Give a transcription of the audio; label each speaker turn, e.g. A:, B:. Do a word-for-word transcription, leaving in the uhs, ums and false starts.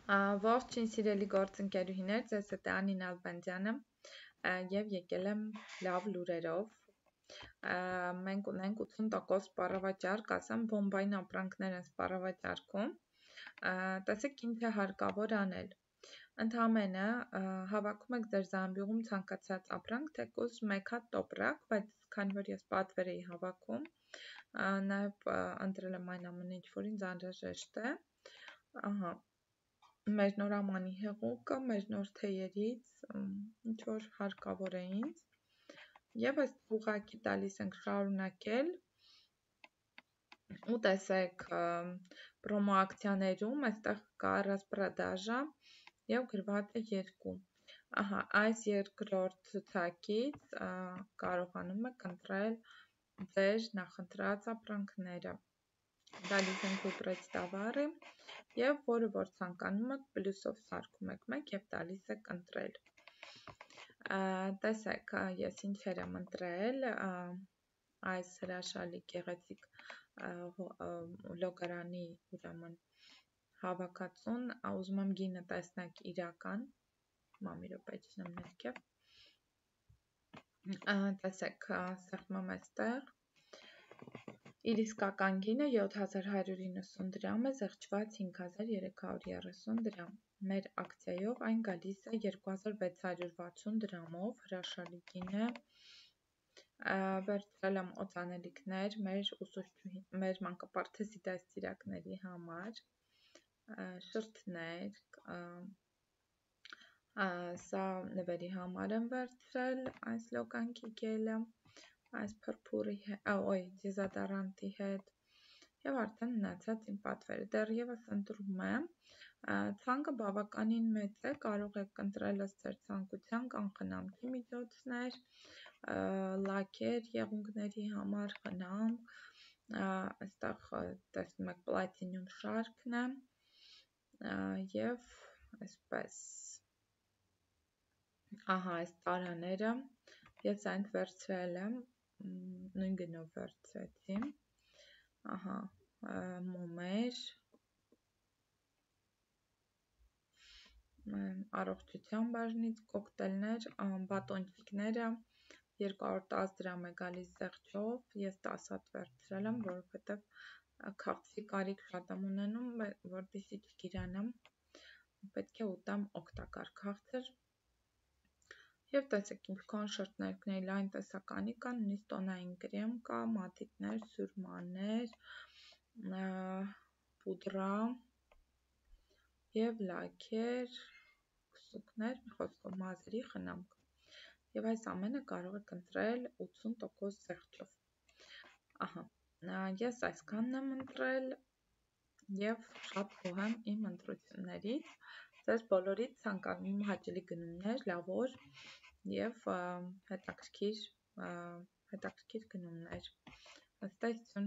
A: Ողջույն սիրելի գործընկերուհիներ, ձեզ հետ է Անին Ալբանդյանը եւ եկել եմ լավ լուրերով։ Մենք ունենք ութուն տոկոս սպառավաճառք, ասեմ բոմբային ապրանքներ են սպառավաճառքում։ Տեսեք ինչ է հարկավոր անել։ Ընդամենը հավաքում եք ձեր զամբյուղում ցանկացած ապրանք, թեկուզ մեկ հատ տոպրակ, բայց քանի որ ես պատվեր էի հավաքում, նաեւ ընտրել եմ այն ամենը, ինչ որ ինձ անհրաժեշտ է։ Ահա մեր նոր ամանի հեղուկը, մեր նոր թեյերից, ինչ որ հարկավոր է ինձ, եւ այս ուղղակի տալիս ենք շարունակել, ու տեսեք պրոմո ակցիաներում, այստեղ կա ռասպրադաժա եւ գրված է երկու, ահա այս երկրորդ ցուցակից կարողանում եք ընտրել ձեր նախընտրած ապրանքները, տալիս ենք ուպրեց տավարը եւ որը որ ցանկանում եք պլյուսով սարքում եք մեկ եւ տալիս եք ընտրել։ Տեսեք, ես ինչեր եմ ընտրել, այս հրաշալի գեղեցիկ լոգարանի ուրեմն հավաքածուն, ուզում եմ գինը տեսնեք իրական, մի րոպե իջնեմ ներքև, տեսեք, սեղմում եմ այստեղ, իր իսկական գինը յոթ հազար հարյուր իննսուն դրամ է, զղջված հինգ հազար երեք հարյուր երեսուն դրամ, մեր ակցիայով այն գալիս է երկու հազար վեց հարյուր վաթսուն դրամով, հրաշալի գին է, վերցրել եմ օծանելիքներ մեր ուսուցչուհի, մեր մանկապարտեզի դաստիարակների համար, շրթներ, սա նվերի համար եմ վերցրել, այս լոկանքի գելը, այս փրփուրի, օյ, դեզոդորանտի հետ, եւ արդեն մնացած իմ պատվերը, դեռևս ընտրում եմ, ցանկը բավականին մեծ է, կարող եք ընտրել ըստ ձեր ցանկության, կան խնամքի միջոցներ, լաքեր եղունգների համար, խնամք, այստեղ տեսնում եք պլատինum շարքն է, եւ այսպես, ահա այս տարաները, ես այն վերցրել եմ, նույն գնով վերցրեցի, ահա մոմեր, առողջության բաժնից, կոկտեյլներ, բատոնчикները, երկու հարյուր տասը դրամ է գալիս զեղչով, ես տասը հատ վերցրել եմ, որովհետեւ քաղցի կարիք շատ եմ ունենում, որպեսզի չգիրանամ, պետք է ուտեմ օգտակար քաղցր, եւ տեսեք ինչքան շրթներքների լայն տեսականի կան, նույնիսկ տոնային կրեմ կա, մատիտներ, սուրմաներ, պուդրա եւ լաքեր, քսուկներ, մի խոսքով մազերի խնամք, եւ այս ամենը կարող եք ընտրել ութուն տոկոս զեղչով, ահա, ես այսքանն եմ ընտրել եւ շատ գոհ եմ իմ ընտրություններից, ձեզ բոլորիդ ցանկանում հաճելի գնումներ, լավ օր եւ հետաքրքիր հետաքրքիր գնումներ, հաստատություն։